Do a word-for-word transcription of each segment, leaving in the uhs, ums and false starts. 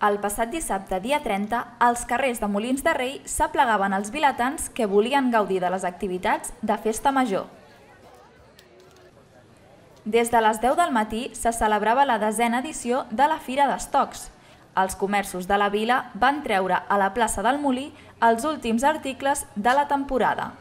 El passat dissabte, dia trenta, als carrers de Molins de Rei s'aplegaven els vilatans que volien gaudir de les activitats de festa major. Des de les deu del matí se celebrava la desena edició de la Fira d'Estocs. Els comerços de la vila van treure a la plaça del Molí els últims articles de la temporada.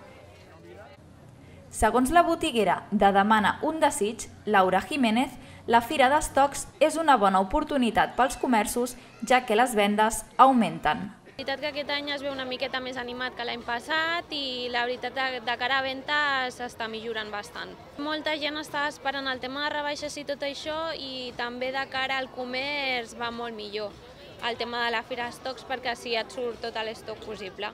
Segons la botiguera de Demana un desig, Laura Jiménez, la Fira d'Estocs és una bona oportunitat pels comerços, ja que les vendes augmenten. La veritat que aquest any es veu una miqueta més animat que l'any passat i la veritat de cara a venda s'està millorant bastant. Molta gent està esperant el tema de rebaixes i tot això i també de cara al comerç va molt millor el tema de la Fira d'Estocs perquè així et surt tot l'estoc possible.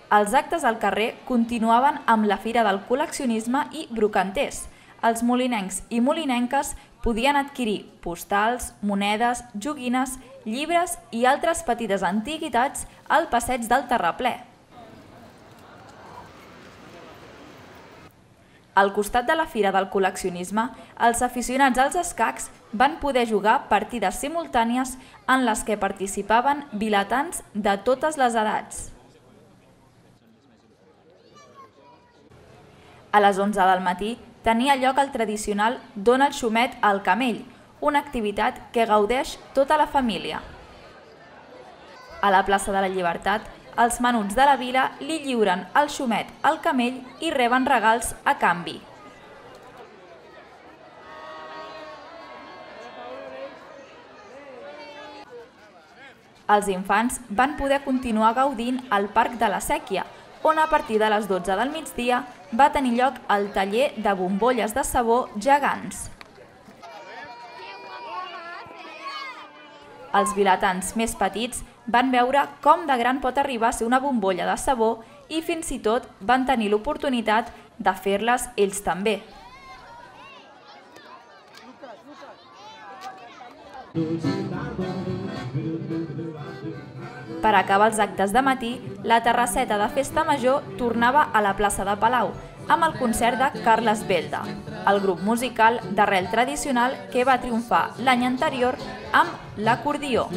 Els actes al carrer continuaven amb la Fira del Col·leccionisme i Brocanters. Els molinencs i molinenques podien adquirir postals, monedes, joguines, llibres i altres petites antiguitats al passeig del Terraplè. Al costat de la Fira del Col·leccionisme, els aficionats als escacs van poder jugar partides simultànies en les que participaven vilatans de totes les edats. A les onze del matí tenia lloc el tradicional Dona el xumet al camell, una activitat que gaudeix tota la família. A la plaça de la Llibertat, els menuts de la vila li lliuren el xumet al camell i reben regals a canvi. Els infants van poder continuar gaudint al Parc de la Sèquia, on a partir de les dotze del migdia va tenir lloc el taller de bombolles de sabó gegants. Els vilatans més petits van veure com de gran pot arribar a ser una bombolla de sabó i fins i tot van tenir l'oportunitat de fer-les ells també. Per acabar els actes de matí, la terrasseta de festa major tornava a la plaça de Palau, amb el concert de Carles Belda, el grup musical d'arrel tradicional que va triomfar l'any anterior amb l'acordió.